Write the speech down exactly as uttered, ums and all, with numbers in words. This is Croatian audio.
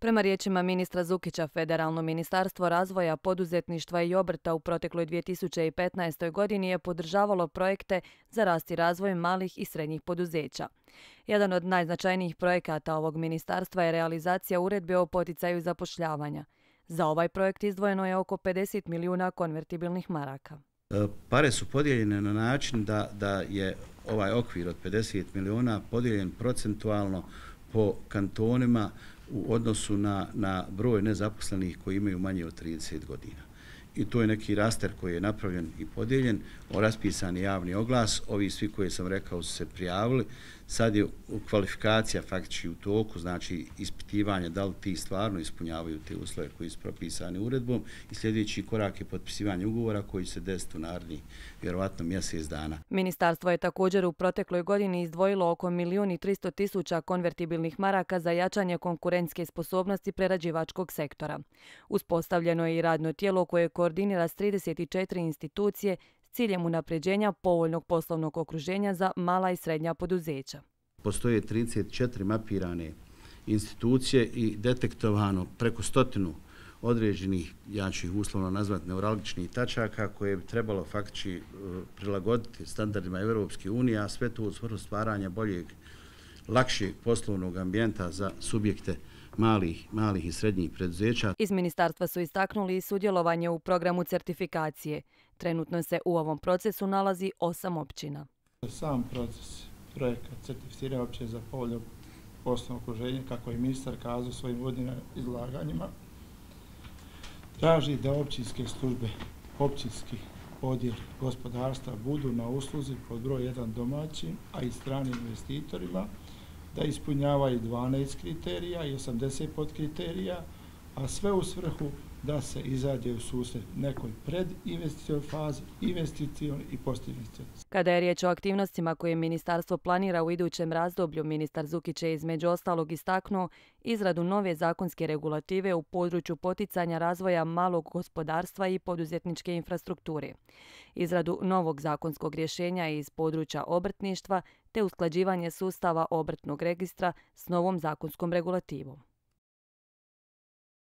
Prema riječima ministra Zukića, Federalno ministarstvo razvoja, poduzetništva i obrta u protekloj dvije tisuće petnaestoj. godini je podržavalo projekte za rast i razvoj malih i srednjih poduzeća. Jedan od najznačajnijih projekata ovog ministarstva je realizacija uredbe o poticaju zapošljavanja. Za ovaj projekt izdvojeno je oko pedeset milijuna konvertibilnih maraka. Pare su podijeljene na način da, da je ovaj okvir od pedeset milijuna podijeljen procentualno po kantonima u odnosu na, na broj nezaposlenih koji imaju manje od trideset godina. I to je neki raster koji je napravljen i podijeljen, o raspisani javni oglas, ovi svi koji sam rekao su se prijavili, sad je kvalifikacija faktički u toku, znači ispitivanje da li ti stvarno ispunjavaju te uslove koji su propisani uredbom i sljedeći korak je potpisivanje ugovora koji se desiti u narednih vjerovatno mjesec dana. Ministarstvo je također u protekloj godini izdvojilo oko milijun i tristo tisuća konvertibilnih maraka za jačanje konkurentske sposobnosti prerađivačkog sektora. Uspostavljeno je i radno tijelo koje koordinira s trideset četiri institucije s ciljem unapređenja povoljnog poslovnog okruženja za mala i srednja poduzeća. Postoje trideset četiri mapirane institucije i detektovano preko stotinu određenih, ja ću ih uslovno nazvati neuralgičnih tačaka koje bi trebalo faktički prilagoditi standardima Europske unije, a sve to u svrhu stvaranja boljeg, lakšeg poslovnog ambijenta za subjekte malih, malih i srednjih preduzeća. Iz ministarstva su istaknuli i sudjelovanje u programu certifikacije. Trenutno se u ovom procesu nalazi osam općina. Sam proces projekta certificiranja općine za povoljno poslovno okruženje, kako je ministar kazao svojim uvodnim izlaganjima, traži da općinske službe, općinski odjel gospodarstva budu na usluzi pod broj jedan domaćim, a i stranim investitorima, da ispunjavaju dvanaest kriterija i osamdeset podkriterija, a sve u svrhu da se izađe u susret nekoj predinvesticionoj fazi, investicionoj i postinvesticionoj. Kada je riječ o aktivnostima koje ministarstvo planira u idućem razdoblju, ministar Zukić je između ostalog istaknuo izradu nove zakonske regulative u području poticanja razvoja malog gospodarstva i poduzetničke infrastrukture, izradu novog zakonskog rješenja iz područja obrtništva te usklađivanje sustava obrtnog registra s novom zakonskom regulativom.